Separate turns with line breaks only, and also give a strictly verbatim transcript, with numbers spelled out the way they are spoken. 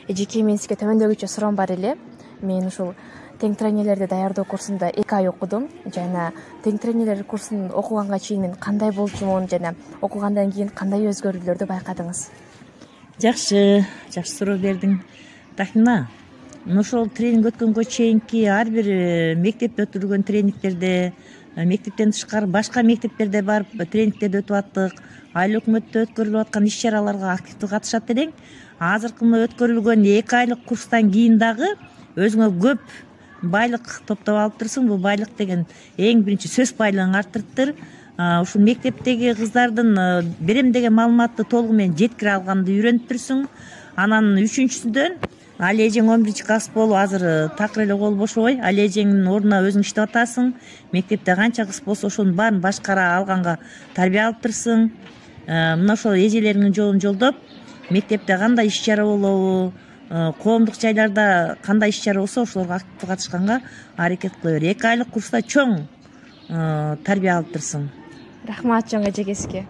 эжеке мен сизге төмөндөгүчө суроом бар эле. Мен ушул тең тренерлерди даярдоо курсунда эки ай окудум жана тең тренерлер курсун окуганга чейин мен кандай болчумун жана окугандан кийин кандай өзгөрүүлөрдү байкадыңыз?
Жакшы, жакшы суроо бердиң. Тахина, ошол тренинг өткөнгө чейинки ар бир мектепте өтүлгөн тренингтерде, мектептен тышкары башка мектептерде барып тренингтерди өтүп аттык. Айыл өкмөттө өткөрүлүп аткан иш чараларга активдүү катышат элең. Азыркы өткөрүлгөн эки айлык курстан кийин дагы өзүңө көп байлык топтоп алыптырсың. Бул байлык деген эң биринчи сөз байлыгын арттырыптыр. Ушул мектептеги кыздардын берем деген маалыматты толугу менен жеткире алганды үйрөнүптүрсүң. Анан үчүнчүсүдөн али эжең он биринчи класс болуп азыр такыр эле кол бошобой али эжеңдин ордуна өзүң иштеп атасың. Мектепте канча кыз болсо ошонун баарын башкара алганга тарбия алыптырсың. Мына ошол эжелериңдин жолун жолдоп, мектепте кандай иш чара болобу, коомдук жайларда кандай иш чара болсо ошолорго активдүү катышканга аракет кыла бер. эки айлык курста чоң тарбия алыптырсың.
Рахмат чоң эжеке сизге.